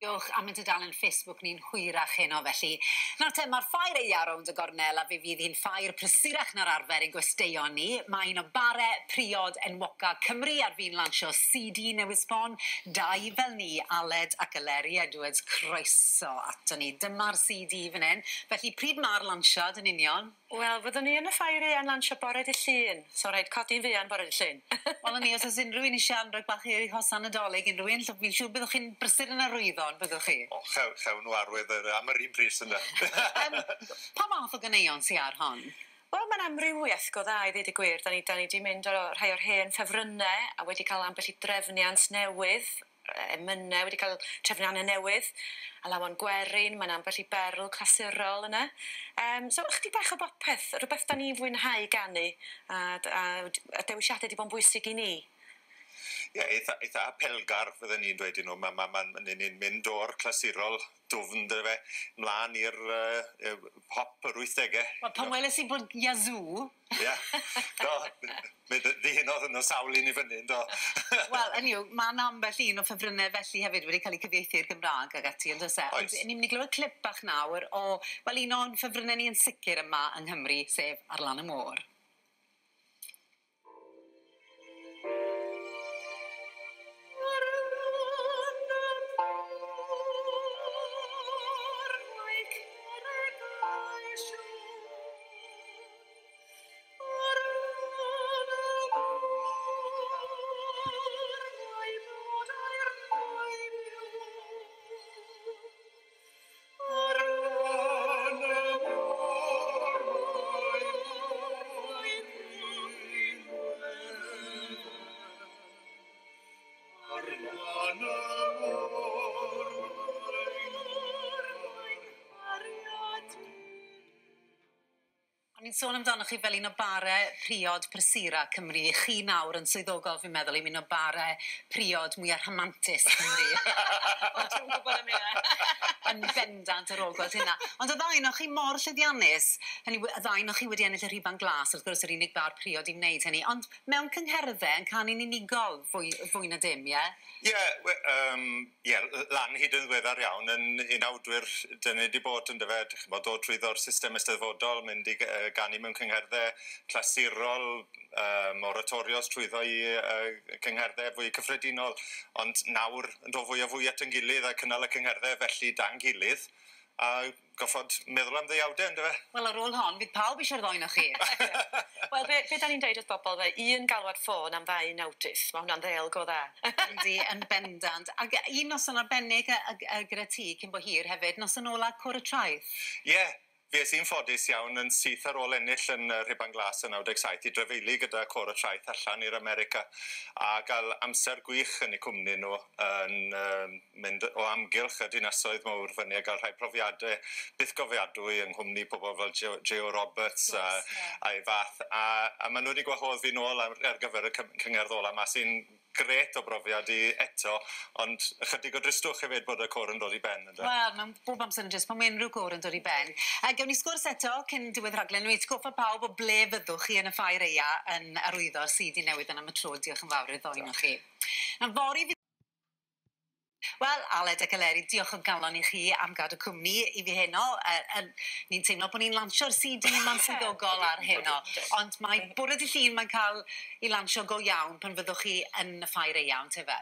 Diolch am ein tudalen Facebook ni'n hwyrach heno felly. Nawr te, mae'r ffair aeaf rownd y gornel a fe fydd hi'n ffair prysurach na'r arfer ein gwesteion ni. Mae un o bare priod enwoca Cymru ar fin lansio CD newydd sbon. Dau fel ni, Aled ac Eleri Edwards, croeso ato ni. Dyma'r CD fan hyn. Felly pryd mae'r lansiad yn union? Wel, fyddwn ni yn y ffair aeaf yn lansio bore dydd Llun, so rhaid codi'n fuan bore dydd Llun. Wel, 'na ni, os oes unrhyw un eisiau anrheg bach i hosan Nadolig, unrhyw un, fi'n siŵr byddwch chi'n brysur yn arwyddo, yn byddwch chi? O, chewn nhw arwydd am yr un pris ynde. Pa fath o ganeuon sy ar hon? Wel, mae'n amrywiaeth go dda i ddweud y gwir. Da ni 'di mynd o rhai o'r hen ffefrynnau a wedi cael ambell i drefniant newydd, emynau wedi cael trefniannau newydd, alawon gwerin, mae'n ambell i berl clasurol yna. So ychydig bach o bopeth, rhywbeth da ni'n fwynhau ganu a dewisiadau wedi bod yn bwysig i ni. Ie, eitha apelgar fydden ni'n dweud i nhw. Ni'n mynd o'r clasurol dwfn, dyfe fe, mlaen i'r pop yr 80au. Wel, pan weles i bod Yazoo... Ie, do, mi ddihunodd yno sawl un i fyny, do. Wel, hynny yw, mae 'na ambell un o ffefrynnau felly hefyd wedi cael eu cyfieithu i'r Gymraeg ag ati, yn does e? Oes. Ond ni'n mynd i glywed clip bach nawr o, wel, un o'n ffefrynnau ni yn sicr yma yng Nghymru, sef Ar Lan y Môr. O'n i'n sôn amdanoch chi fel un o bare priod prysura Cymru. Chi nawr yn swyddogol, fi'n meddwl, i un o bare priod mwyaf rhamantus Cymru. O, dwi'm yn gwybod am hynna. Yn bendant ar ôl gweld hynna. Ond y ddau ohonoch chi mor llwyddiannus, hynny yw, y ddau ohonoch chi wedi ennill y Rhuban Glas, wrth gwrs yr unig bar priod i wneud hynny, ond mewn cyngherddau yn canu'n unigol fwy na dim, ie? Ie, ie, lan hyd yn ddiweddar iawn yn unawdwyr dyn ni wedi bod yn dyfe, ch'mod, dod trwyddo'r system eisteddfodol, mynd i ganu mewn cyngherddau clasurol, oratorios trwyddo i cyngherddau fwy cyffredinol, ond nawr yn dod fwy a fwy at ein gilydd a cynnal y cyngherddau felly da'n gilydd, a goffod meddwl am ddeuawdau, yndyfe? Wel, ar ôl hon, fydd pawb eisiau'r ddoi ohonoch chi. Wel, be da ni'n deud wrth bobl, fe, un galwad ffôn am ddau unawdydd, mae hwnna'n ddêl go dda. Yndi, yn bendant. Ac un noson arbennig gyda ti cyn bo hir hefyd, noson ola Côr y Traeth. Ie, fi es i'n ffodus iawn yn syth ar ôl ennill yn Rhuban Glas yn 97 i drafeili gyda Côr y Traeth allan i'r America a gael amser gwych yn eu cwmni nhw yn mynd o amgylch y dinasoedd mawr fyny a gael rhai profiadau bythgofiadwy yng nghwmni pobl fel J.O. Roberts a'i fath. A maen nhw wedi gwahodd fi nôl ar gyfer y cyngerdd ola 'ma sy'n grêt o brofiad i eto, ond ychydig o dristwch hefyd bod y côr yn dod i ben, ynde? Wel, mae'n bob amser yn drist pan mae unrhyw gôr yn dod i ben. Gewn ni sgwrs eto cyn diwedd rhaglen. Wi'n atgoffa pawb o ble fyddwch chi yn y ffair aeaf yn arwyddo'r CD newydd yna am y tro. Diolch yn fawr i'r ddoi ohonoch chi. Nawr, fory fydd Wel, Aled ac Eleri, diolch o galon i chi am gadw cwmni i fi heno. Ni'n teimlo bod ni'n lansio'r CD ma'n swyddogol ar heno. Ond mae bore dydd Llun mae'n cael ei lansio go iawn pan fyddwch chi yn y ffair aeaf, yntefe?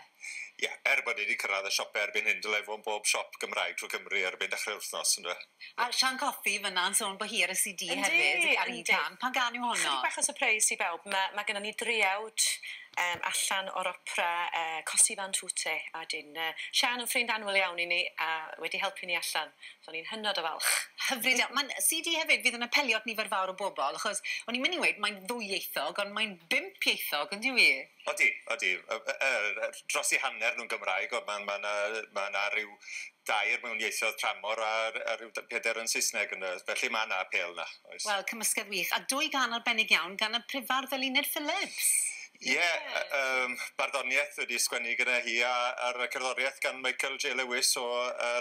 Ie, er bod ni wedi cyrraedd y siopau erbyn hyn, dylai fod yn bob siop Gymraeg trwy Cymru erbyn dechrau'r wythnos, yndyfe? A Sian Cothi fyna yn sôn bod hi ar y CD hefyd, ar un can. Pan gan yw honno? Chydig bach o surprise i bawb. Mae gennym ni driawd allan o'r opera Così fan tutte, a dyn Sian yn ffrind annwyl iawn i ni a wedi helpu ni allan. So ni'n hynod o falch. Hyfryd iawn. Mae'n CD hefyd fydd yn apelio at nifer fawr o bobl, achos o'n i'n mynd i weud mae'n ddwyieithog, ond mae'n bump-ieithog, on'd yw i? Odi, odi. Dros i hanner nhw'n Gymraeg, ond ma' 'na ryw dair mewn ieithoedd tramor a ryw pedair yn Saesneg ynde. Felly ma' 'na apêl 'na, oes. Wel, cymysgedd wych. A dwy gân arbennig iawn gan y prifardd Eluned Phillips. Ie, barddoniaeth wedi sgwennu gyda hi a'r cerddoriaeth gan Michael J. Lewis o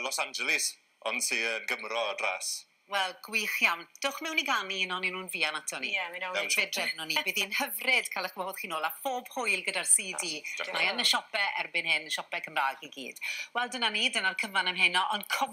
Los Angeles, ond sy'n Gymro o dras. Wel, gwych iawn. Dewch mewn i ganu un o'n nhw'n fuan ato ni. Ie, mi wnawn ni. Fe drefnwn ni. Bydd hi'n hyfryd cael eich gwahodd chi nôl a phob hwyl gyda'r CD. Diolch. Mae yn y siopau erbyn hyn, siopau Cymraeg i gyd. Wel, dyna ni, dyna'r cyfan am heno, ond